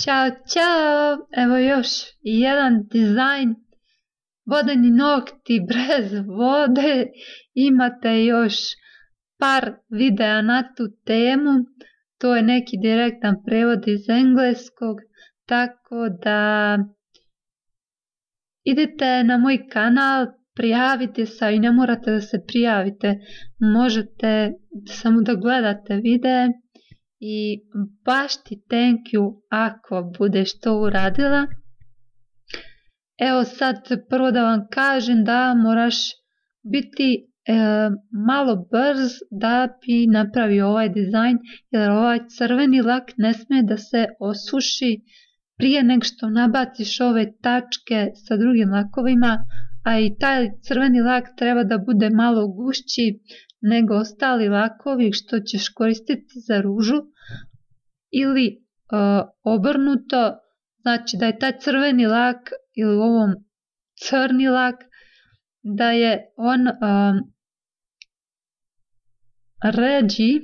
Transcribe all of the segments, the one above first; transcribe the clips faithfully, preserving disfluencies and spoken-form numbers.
Ćao, ćao! Evo još jedan dizajn. Vodeni nokti bez vode. Imate još par videa na tu temu. To je neki direktan prevod iz engleskog. Tako da idite na moj kanal, prijavite se i ne morate da se prijavite. Možete samo da gledate videe. I baš ti thank you ako budeš to uradila. Evo sad prvo da vam kažem da moraš biti e, malo brz da bi napravio ovaj dizajn, jer ovaj crveni lak ne smije da se osuši prije nego što nabaciš ove tačke sa drugim lakovima, a i taj crveni lak treba da bude malo gušći nego ostali lakovi što ćeš koristiti za ružu, ili e, obrnuto, znači da je taj crveni lak ili u ovom crni lak, da je on um, ređi,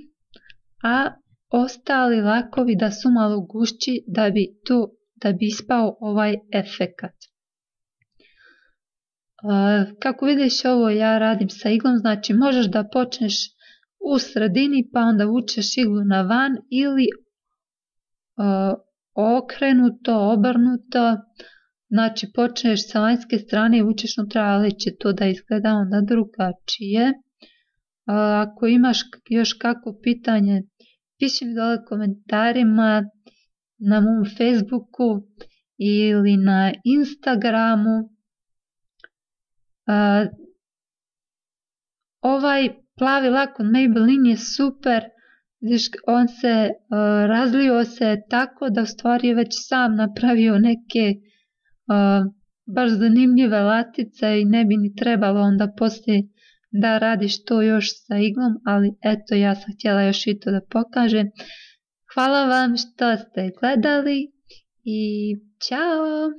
a ostali lakovi da su malo gušći da bi, tu, da bi ispao ovaj efekat. Uh, kako vidiš, ovo ja radim sa iglom, znači možeš da počneš u sredini pa onda vučeš iglu na van ili uh, okrenuto, obrnuto, znači počneš sa vanjske strane i vučeš unutra, ali će to da izgleda onda drugačije. Uh, ako imaš još kako pitanje, piši mi dole komentarima na mom Facebooku ili na Instagramu. Uh, ovaj plavi lak od Maybelline je super, vidiš, on se uh, razlio se tako da u stvari je već sam napravio neke uh, baš zanimljive latice i ne bi ni trebalo onda poslije da radiš to još sa iglom, ali eto, ja sam htjela još i to da pokažem. Hvala vam što ste gledali i ćao!